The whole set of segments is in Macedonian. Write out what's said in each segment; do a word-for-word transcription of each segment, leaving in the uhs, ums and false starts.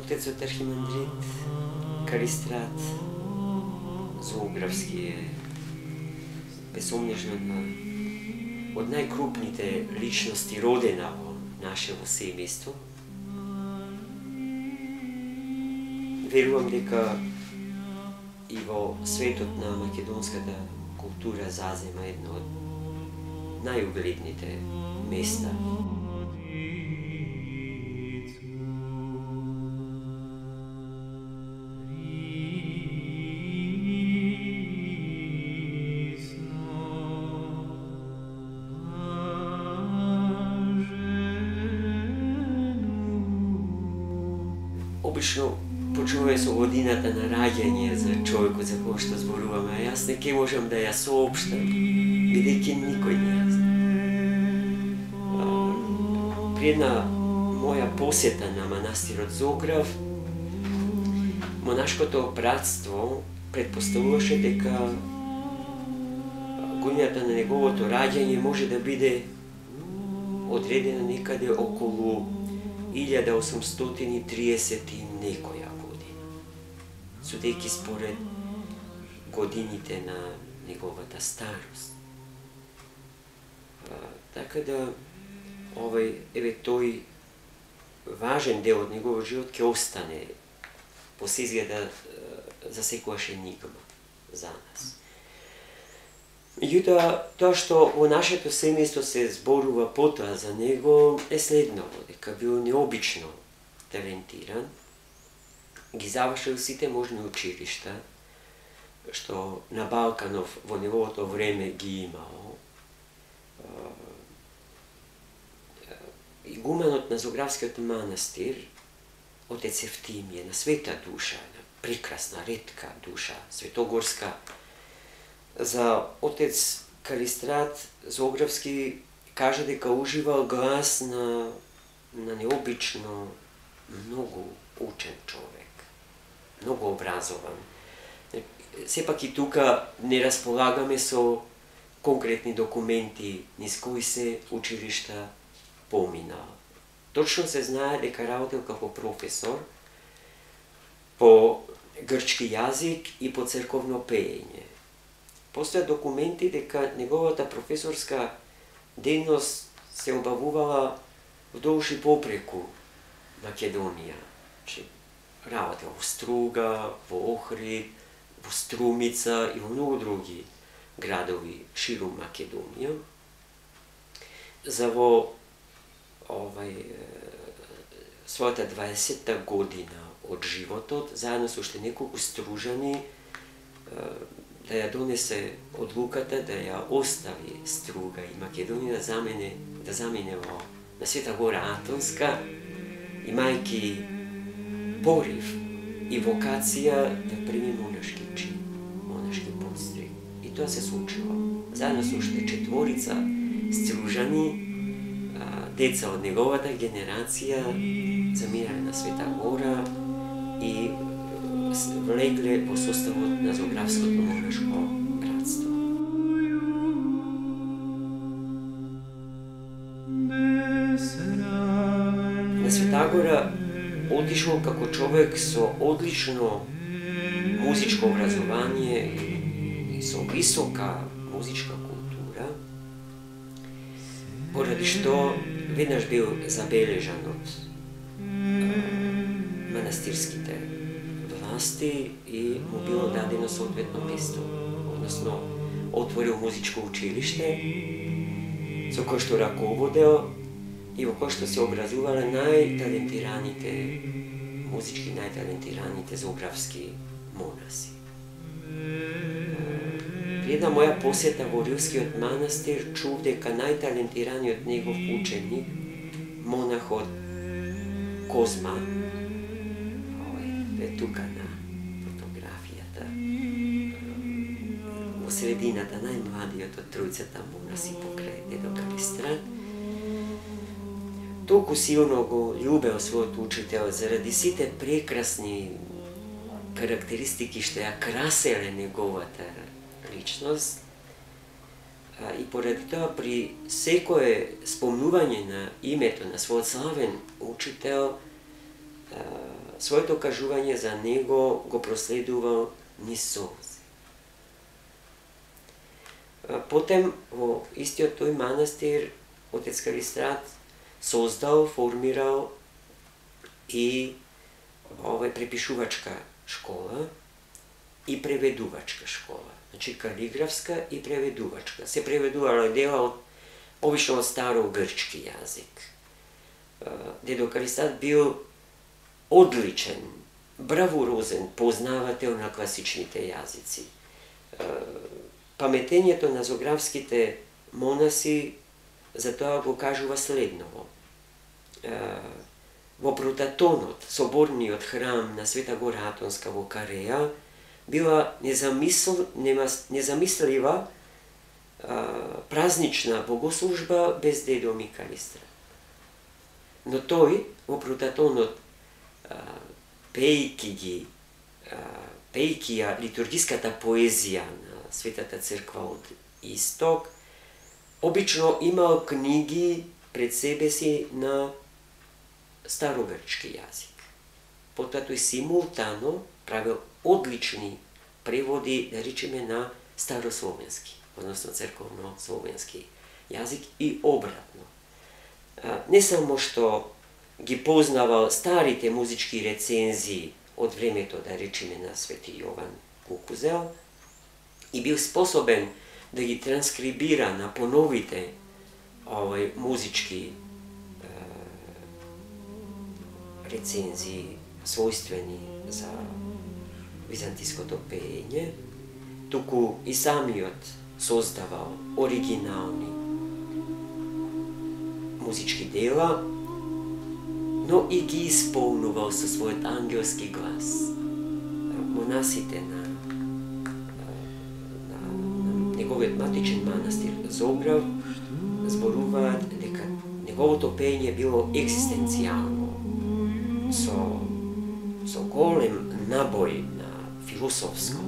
Отецот архимандрит Калистрат Зографски е безумнежно од најкрупните личности родена во нашево семејство. Верувам дека и во светот на македонската култура зазема едно од најугледните места. Обично почнува со годината на раѓање за човекот за кој што зборуваме, а јас не ке можам да ја соопштам, бидејќи никој не ја знае. При една моја посета на манастирот Зограф, монашкото братство предпоставуваше дека годината на неговото раѓање може да биде одредена некаде околу илјада осумстотини и триесет и некоја година, судејќи според годините на неговата старост. А, така да, овој, еве тој важен дел од неговиот живот ќе остане по се изгледа за секојаш енигма за нас. Меѓутоа, тоа што во нашето семејство се зборува потоа за него е следново, дека бил необично талентиран, ги завршил сите можни училишта, што на Балканов во неговото време ги имало. Игуменот на Зографскиот манастир, отец Евтимиј, на света душа, на прекрасна, ретка душа, светогорска. За отец Калистрат Зографски кажа дека уживал глас на, на необично многу учен човек, многу образован. Сепак и тука не располагаме со конкретни документи низ кои се училишта поминал. Точно се знае дека работел како професор по грчки јазик и по црковно пеење. Постојат документи дека неговата професорска дејност се обавувала вдолж и попреку Македонија. Работел во Струга, во Охрид, во Струмица и во многу други градови ширум Македонија. За во овај, својата дваесетта година од животот, заедно со уште неколку стружани, да ја донесе одлуката да ја остави Струга и Македонија да замене, да замине во на Света Гора Атонска, имајќи порив и вокација да прими монашки чин, монашки подстриг. И тоа се случило. Заедно со уште четворица стружани, деца од неговата генерација, заминале на Света Гора и влегле во составот на Зографското монашко братство. На Света Гора отишол како човек со одлично музичко образование и со висока музичка култура, поради што веднаш бил забележан од манастирските власти и му било дадено соодветно место, односно отворил музичко училиште со кој што раководел и во кој што се образувале најталентираните музички најталентираните зографски монаси. При една моја посета во Рилскиот манастир чув дека најталентираниот негов ученик, монахот Козма, овој е тука на фотографијата, во средината најмладиот од тројцата монаси покрај дедо Калистрат, толку силно го љубел својот учител заради сите прекрасни карактеристики што ја краселе неговата личност, и поради тоа при секое спомнување на името на својот славен учител своето кажување за него го проследувал низ солзи. Потем, во истиот тој манастир, отец Калистрат создал, формирал и овај препишувачка школа и преведувачка школа. Значи калиграфска и преведувачка. Се преведувало дела од обично од старогрчки јазик. Дедо Калистрат бил одличен, бравурозен познавател на класичните јазици. Паметењето на зографските монаси за тоа го кажува следново. Во Протатонот, соборниот храм на Света Гора Атонска во Кареја, била незамисл, незамислива празнична богослужба без дедо ми Калистрат. Но тој во Протатонот, пејки ги, пејки ја литургиската поезија на Светата црква од Исток, обично имал книги пред себе си на старогрчки јазик. Потоа тој симултано правил одлични преводи, да речеме, на старословенски, односно црковно-словенски јазик и обратно. Не само што ги познавал старите музички рецензии од времето, да речеме, на Свети Јован Кукузел, и бил способен да ги транскрибира на поновите овај музички е, рецензии својствени за византиското пеење, туку и самиот создавал оригинални музички дела, но и ги исполнувал со својот ангелски глас. Монасите на, на, на неговиот матичен манастир Зограв зборуваат дека неговото пеење било екзистенцијално, со, со голем набој на философско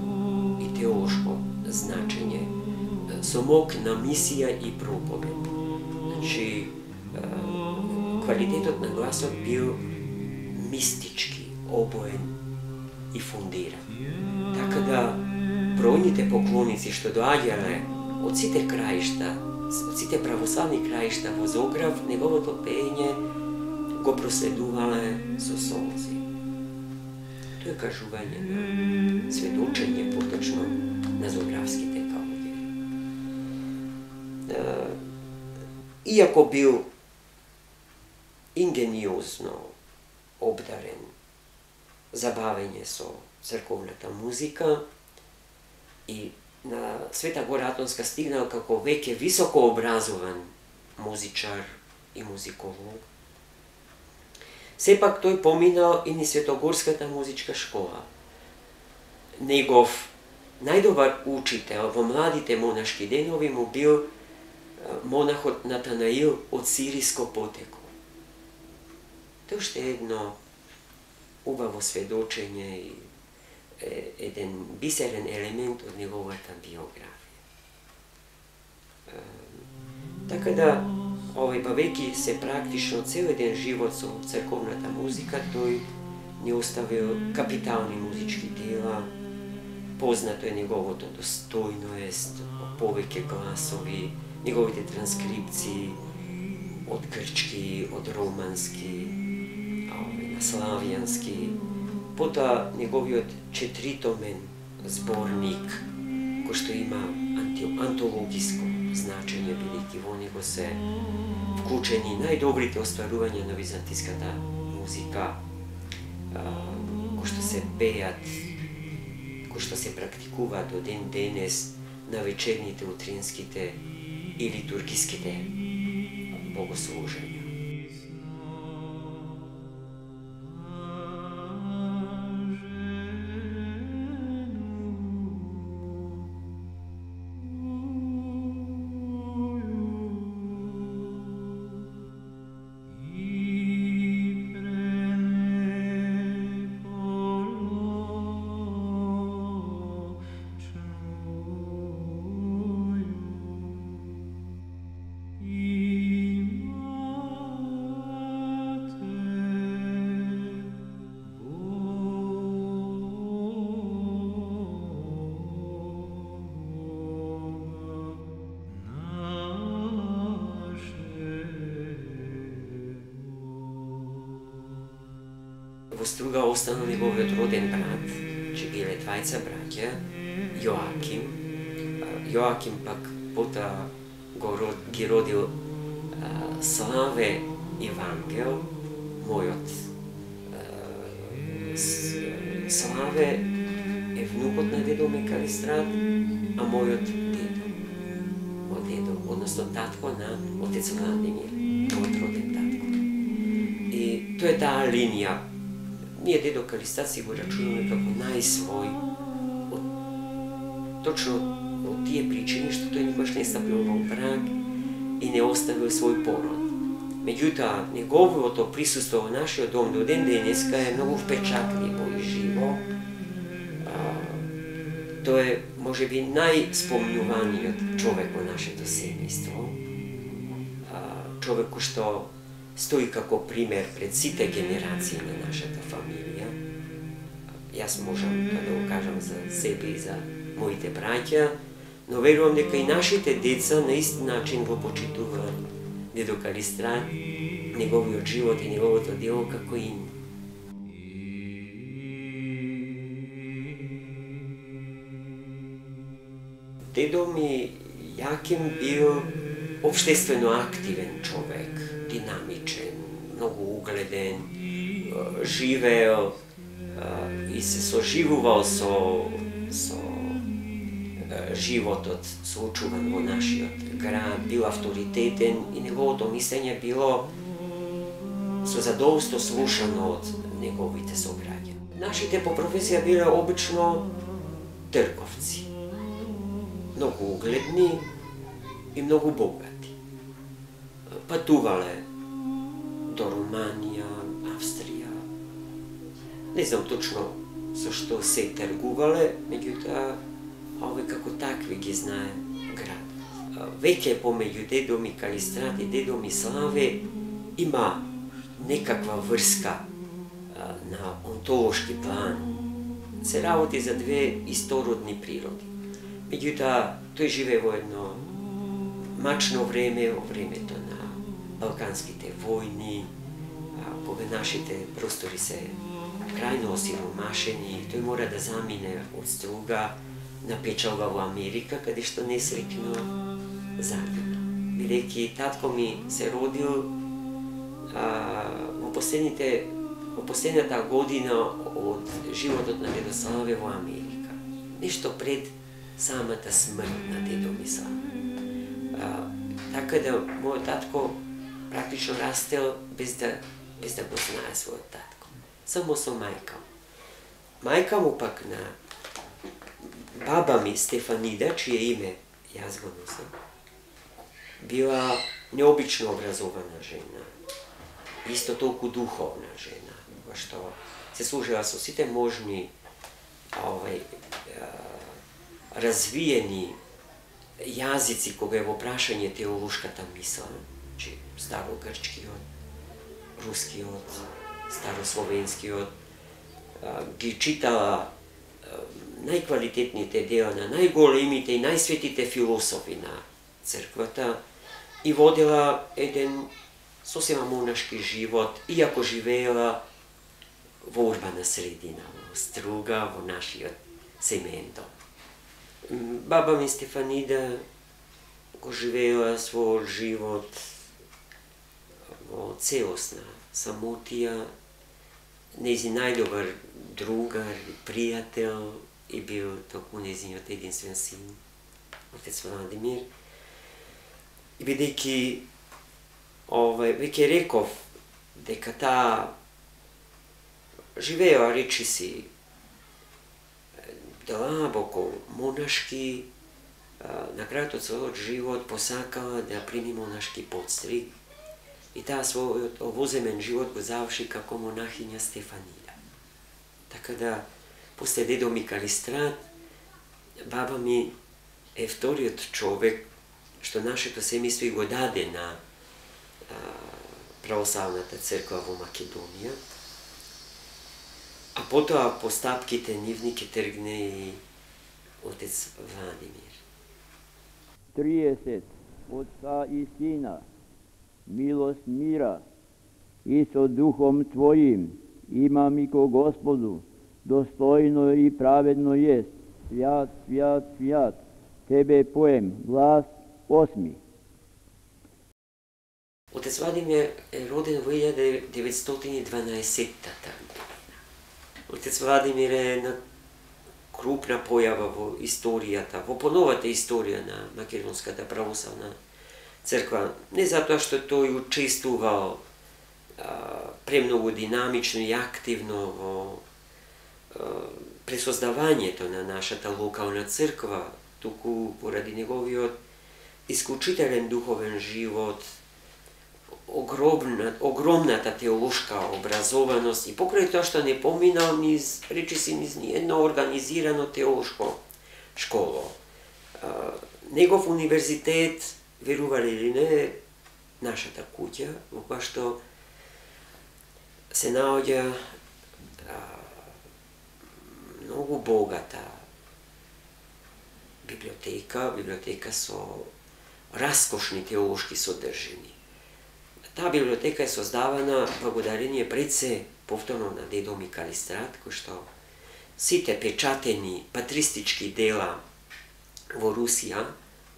и теолошко значење, со мок на мисија и проповед. Значи, квалитетот на гласот бил мистички, обоен и фундиран. Така да, бројните поклоници што доаѓале од сите краишта, од сите православни краишта во Зограв, неговото пеење го проследувале со солзи. Тоа е кажување на сведочење, поточно на зографските калуѓери. Иако бил ингениозно обдарен за бавење со црковната музика и на Света Гора Атонска стигнал како веќе високо образован музичар и музиколог, сепак тој поминал и низ Светогорската музичка школа. Негов најдобар учител во младите монашки денови му бил монахот Натанаил од сириско потекло. Тоа уште едно убаво сведочење и еден бисерен елемент од неговата биографија. Така да, овој бавејќи се практично цел еден живот со црковната музика, тој не оставил капитални музички дела. Познато е неговото достојност, повеќе гласови, неговите транскрипции од грчки, од романски, на славјански, потоа неговиот четиритомен зборник, кој што има антологиско значење, бидејќи во него се вклучени најдобрите остварувања на византиската музика, кои што се пеат, кои што се практикуваат до ден денес на вечерните, утринските и литургиските богослужења. Ima во Струга останал неговиот роден брат, че биле двајца браќа, Јоаким. Јоаким пак потоа го род, ги родил а, Славе и Вангел, мојот а, Славе е внукот на дедо ми Калистрат, а мојот дедо, мој дедо, односно татко на отец Владимир, мојот роден татко. И тоа е таа линија. Ние дедо Калистрат си го рачунаме како најсвој, од, точно од тие причини што тој никош не стапил во брак и не оставил свој пород. Меѓутоа, неговото присуство во нашиот дом до ден денеска е многу впечатливо и живо. Тој е, можеби, најспомнуваниот човек во нашето семејство. Човек кој што стои како пример пред сите генерации на нашата фамилија. Јас можам да го кажам за себе и за моите браќа, но верувам дека и нашите деца на ист начин го почитуваат дедо Калистрат, неговиот живот и неговото дело како и ние. Дедо ми Јаким бил општествено активен човек, динамичен, многу угледен, живеел и се соживувал со, со животот соочуван во нашиот град, бил авторитетен и неговото мислење било со задоволство слушано од неговите сограѓани. Нашите по професија биле обично трговци, многу угледни и многу богати. Патувале до Руманија, Австрија. Не знам точно со што се тргувале, меѓутоа овој како такви ги знае град. Веќе помеѓу дедо ми Калистрат и дедо ми Славе има некаква врска на онтолошки план. Се работи за две истородни природи. Меѓутоа, тој живее во едно мачно време, во времето на Балканските војни, кога нашите простори се крајно осиромашени, тој мора да замине од Струга на печалба во Америка, каде што несреќно загина. Бидејќи татко ми се родил а, во последните во последната година од животот на дедо Славе во Америка. Нешто пред самата смрт на дедо ми Славе. А, така да мојот татко практично растел без да без да го знае својот татко. Само со мајка му. Мајка му пак на баба ми Стефанида, чие име јас го носам, била необично образована жена. Исто толку духовна жена, која што се служила со сите можни овај развиени јазици кога е во прашање теолошката мисла, че старогрчкиот, рускиот, старословенскиот, ги читала најквалитетните дела на најголемите и најсветите философи на црквата и водела еден сосема монашки живот, иако живеела во урбана средина, во Струга, во нашиот семеен дом. Баба ми Стефанида го живеела својот живот во целосна самотија, нејзин најдобар другар и пријател и бил токму нејзиниот единствен син, отец Владимир. И бидејќи овај веќе реков дека таа живеела речиси длабоко монашки, на крајот од својот живот посакала да прими монашки подстриг и таа својот овоземен живот го заврши како монахиња Стефанида. Така да, после дедо ми Калистрат, баба ми е вториот човек што нашето семејство го даде на а, православната црква во Македонија, а потоа по стапките нивни ке тргне и отец Владимир. триесет Отца и Сина, милост мира и со Духом Твоим imam i ko Gospodu, dostojno i pravedno jest, svjat, svjat, svjat, tebe pojem, glas osmi. Отец Владимир е роден во илјада деветстотини и дванаесетта година. Отец Владимир е една крупна појава во историјата, во поновата историја на Македонската православна црква. Не затоа што тој учествувал а, премногу динамично и активно во а, пресоздавањето на нашата локална црква, туку поради неговиот исклучителен духовен живот, огромна, огромната теолошка образованост и покрај тоа што не поминал низ, речи си, низ едно организирано теолошко школо. А, негов универзитет, верували или не, нашата куќа, во која што се наоѓа а, многу богата библиотека, библиотека со раскошни теолошки содржини. Таа библиотека е создавана благодарение пред се повторно на дедо ми Калистрат, кој што сите печатени патристички дела во Русија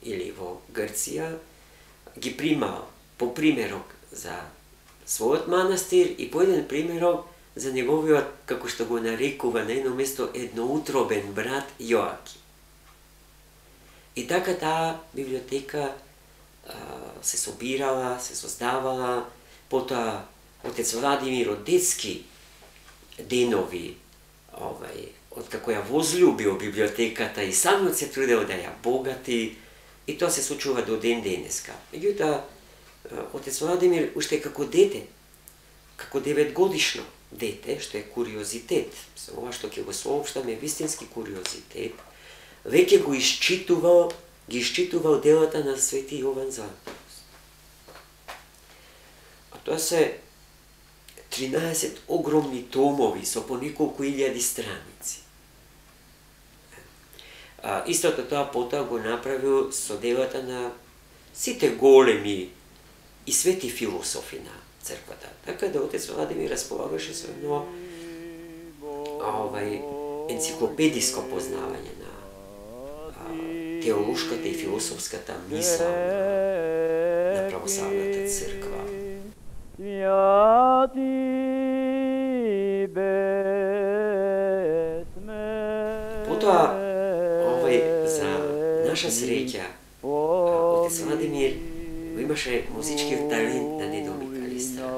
или во Грција ги примал по примерок за својот манастир и по еден примерок за неговиот, како што го нарекува на едно место, едноутробен брат Јоаким. И така таа библиотека се собирала, се создавала, потоа отец Владимир од детски денови, овај, откако ја возлюбил библиотеката и самиот се трудел да ја богати, и тоа се случува до ден денеска. Меѓутоа, отец Владимир уште како дете, како деветгодишно дете, што е куриозитет, ова што ќе го соопштаме вистински куриозитет, веќе го исчитувал ги исчитувал делата на Свети Јован Златоуст. А тоа се тринаесет огромни томови со по неколку илјади страници. А, истото тоа потоа го направил со делата на сите големи и свети философи на црквата. Така да отец Владимир располагаше со едно овај енциклопедиско познавање на теолошката и философската мисла на православната црква. Потоа, овај, за наша среќа, отец Владимир го имаше музичкиот талент на дедо ми Калистрат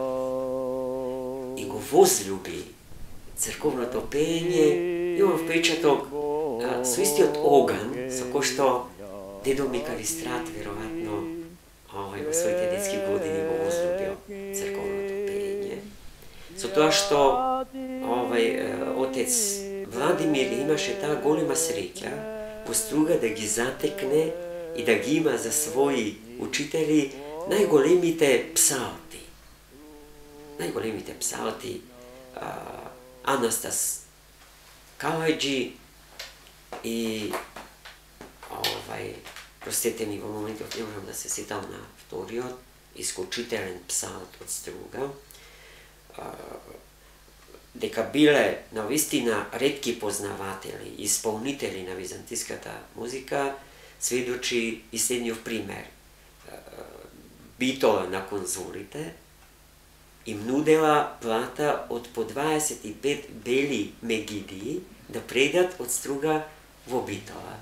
и го возлюби црковното пеење. Имам впечаток со истиот оган со кој што дедо ми Калистрат веројатно овај во своите детски години го возлюбил црковното пеење. Со тоа што овај отец Владимир имаше таа голема среќа во Струга да ги затекне и да ги има за своји учители најголемите псалти. Најголемите псалти Анастас Калајджи и овај, простете ми во моментот не можам да се сетам на вториот, исклучителен псалт од Струга, дека биле навистина ретки познаватели и исполнители на византиската музика, сведочи и следниот пример. Битола на конзулите им нудела плата од по дваесет и пет бели мегидии да предат од Струга во Битола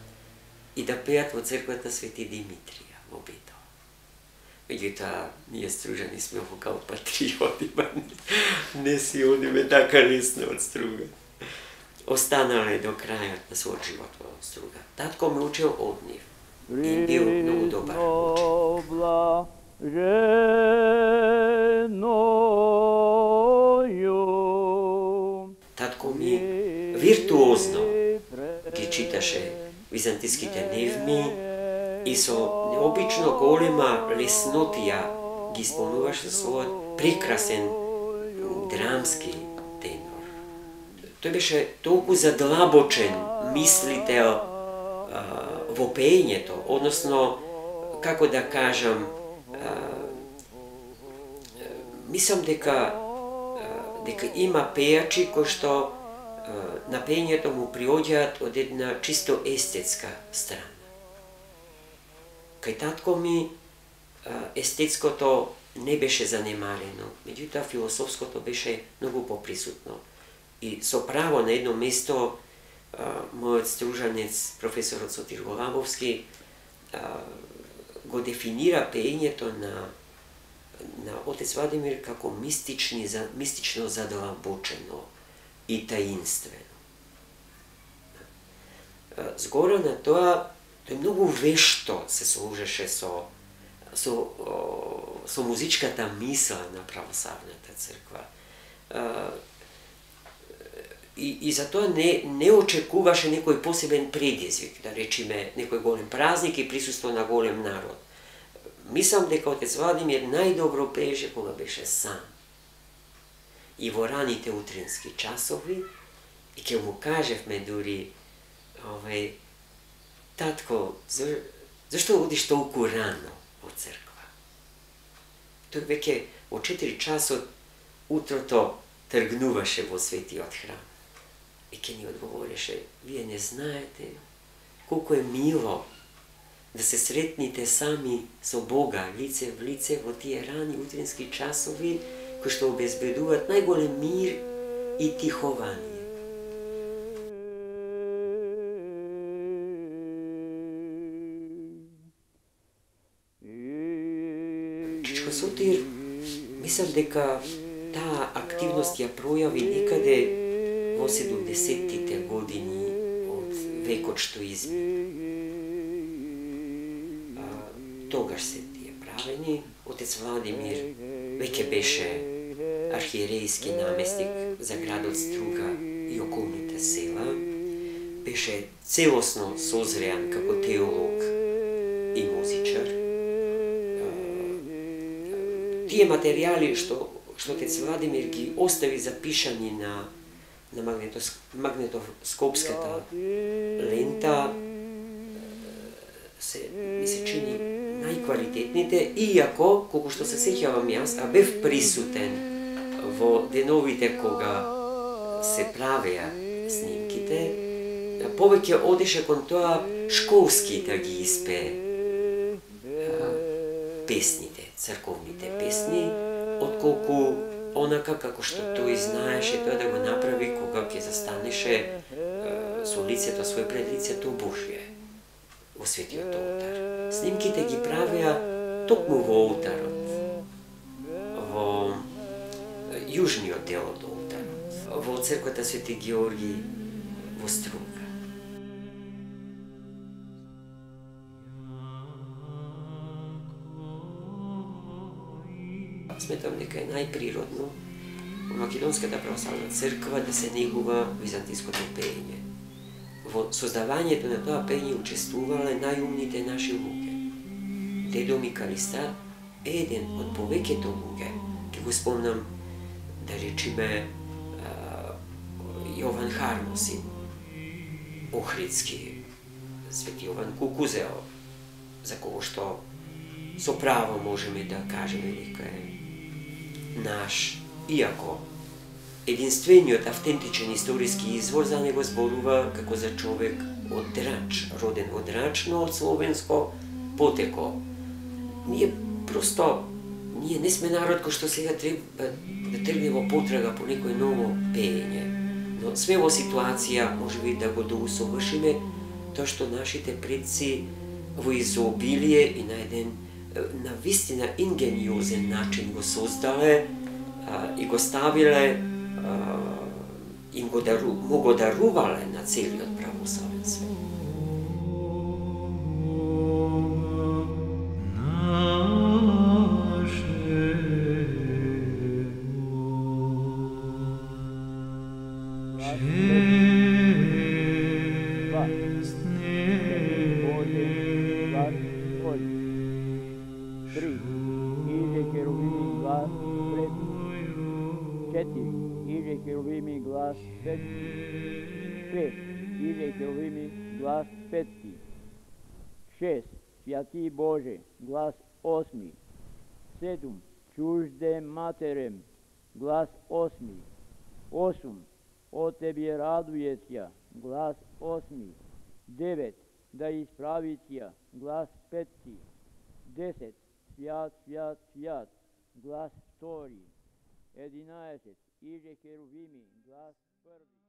и да пеат во црквата Свети Димитрија во Битола. Меѓутоа, ние стружани сме вокал патриоти, не си одиме така лесно од Струга. Останале до крајот на својот живот во Струга. Татко ме учил од нив и бил многу добар ученик. Татко ми виртуозно ги читаше византиските невми и со необично голема леснотија ги исполнуваше својот прекрасен драмски тенор. Тој беше толку задлабочен мислител а, во пеењето, односно, како да кажам, а, мислам дека а, дека има пејачи кои што на пењето му приоѓаат од една чисто естетска страна. Кај татко ми естетското не беше занемарено, меѓутоа философското беше многу поприсутно. И со право на едно место мојот стружанец, професорот Сотир Голабовски, го дефинира пеењето на на отец Владимир како мистични, мистично задлабочено и таинствено. Згора на тоа, тој многу вешто се служеше со со со музичката мисла на православната црква. И, и затоа не, не очекуваше некој посебен предизвик, да речиме некој голем празник и присуство на голем народ. Мислам дека отец Владимир најдобро пееше кога беше сам. И во раните утрински часови, и ќе му кажевме дури, овај, татко, за, зашто одиш толку рано во црква? Тој веќе во четири часот утрото тргнуваше во светиот храм. И ке ни одговореше, вие не знаете колку е мило да се сретните сами со Бога, лице в лице во тие рани утрински часови, кои што обезбедуваат најголем мир и тихование. Чичко Сотир, мислам дека таа активност ја пројави некаде во седумдесеттите години од векот што измина. Тогаш се тие правени. Отец Владимир веќе беше архиерејски наместник за градот Струга и околните села. Беше целосно созреан како теолог и музичар. Тие материјали што што отец Владимир ги остави запишани на на магнетос, магнетоскопската лента се ми се чини најквалитетните, иако, колку што се сеќавам јас, а бев присутен во деновите кога се правеа снимките, повеќе одеше кон тоа школски да ги испее песните, црковните песни, отколку онака како што тој знаеше тоа да го направи кога ќе застанеше со лицето свој пред лицето Божие во светиот олтар. Снимките ги правеа токму во олтарот, во јужниот дел од олтарот, во црквата Свети Георги во Струга. Сметам дека е најприродно во Македонската православна црква да се негува византиското пеење. Во создавањето на тоа пеење учествувале најумните наши луѓе. Дедо ми Калистар е еден од повеќето луѓе. Ке го спомнам, да речиме, Јован Хармосин, Охридски, Свети Јован Кукузео, за кого што со право можеме да кажеме дека е наш, иако единствениот автентичен историски извор за него зборува како за човек од Драч, роден во Драч, но од словенско потекло. Ние просто, ние не сме народ кој што сега треба да тргне во потрага по некој ново пеење, но сме во ситуација можеби да го доусовршиме тоа што нашите предци во изобилие и на еден на вистина ингениозен начин го создале а, и го ставиле, а, им го, дару, му го дарувале на целиот православен свет. Глас петти. Шест. Святи Боже, глас осми. Седум. Чужде матерем, глас осми. Осум. О тебе радујеся, глас осми. Девет. Да исправиция, глас петти. Десет. Свят, свят, свят, глас втори. Единаесет. Иже херувими, глас први.